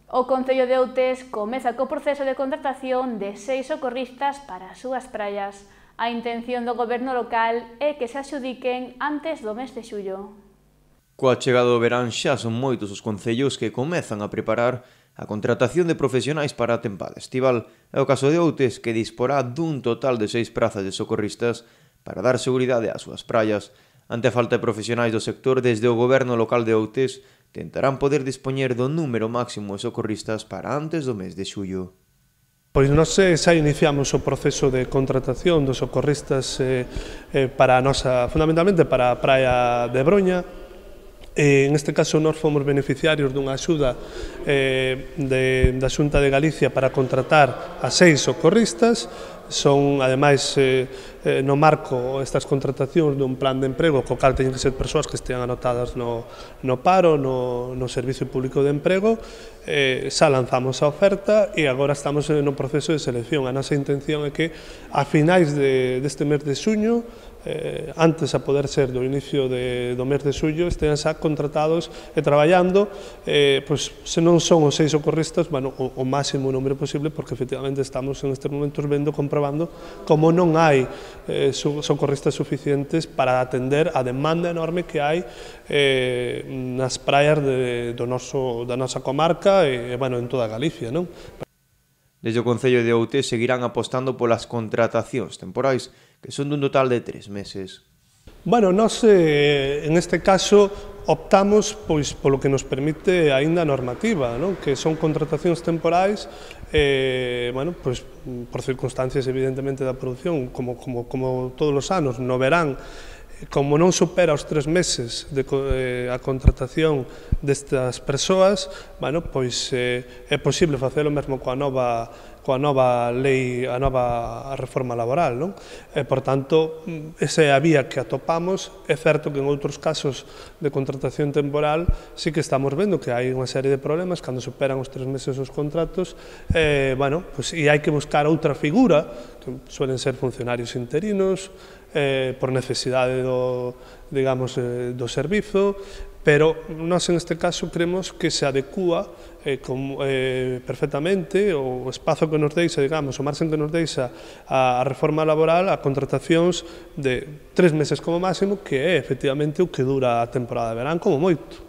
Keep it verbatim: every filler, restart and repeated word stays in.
O Concello de Outes comeza co proceso de contratación de seis socorristas para as súas praias. A intención do goberno local é que se adxudiquen antes do mes de xullo. Coa chegada do verán xa son moitos os concellos que comezan a preparar a contratación de profesionais para a tempada estival. É o caso de Outes, que disporá dun total de seis prazas de socorristas para dar seguridade ás súas praias. Ante a falta de profesionais do sector, desde o goberno local de Outes tentarán poder dispoñer do número máximo de socorristas para antes do mes de xullo. Pois nós xa iniciamos o proceso de contratación dos socorristas eh, eh, para a nosa, fundamentalmente para a praia de Broña. Eh, en este caso nós fomos beneficiarios dunha axuda eh, de, da Xunta de Galicia para contratar a seis socorristas. Son, ademais, eh, eh, no marco estas contratacións dun plan de emprego co cal teñen que ser persoas que estean anotadas no, no paro, no, no Servicio Público de Emprego. Eh, xa lanzamos a oferta e agora estamos no proceso de selección. A nosa intención é que a finais de, deste mes de xuño, eh, antes a poder ser do inicio de, do mes de xullo, estean xa contratados e traballando, eh, pois, se non son os seis socorristas, bueno, o, o máximo número posible, porque efectivamente estamos en estes momentos vendo, comprobando como non hai eh, socorristas suficientes para atender a demanda enorme que hai eh, nas praias de, do noso, da nosa comarca e, bueno, en toda Galicia, non? Desde o Concello de Outes seguirán apostando polas contratacións temporais, que son dun total de tres meses. Bueno, nós, eh, en este caso, optamos pois polo que nos permite aínda a normativa, non? Que son contratacións temporais, eh, bueno, pois, por circunstancias evidentemente da produción, como, como, como todos os anos, no verán, como non supera os tres meses de eh, a contratación destas persoas, bueno, pois eh, é posible facelo mesmo coa nova coa nova lei, a nova reforma laboral, non? E, por tanto, esa é a vía que atopamos. É certo que en outros casos de contratación temporal sí que estamos vendo que hai unha serie de problemas cando superan os tres meses os contratos, eh, bueno, pois, e hai que buscar outra figura, que suelen ser funcionarios interinos, eh, por necesidade do, digamos, eh, do servizo, pero nós en este caso creemos que se adecúa eh, com, eh, perfectamente o espazo que nos deixa, digamos, o marxen que nos deixa a, a reforma laboral a contratacións de tres meses como máximo, que é efectivamente o que dura a temporada de verán como moito.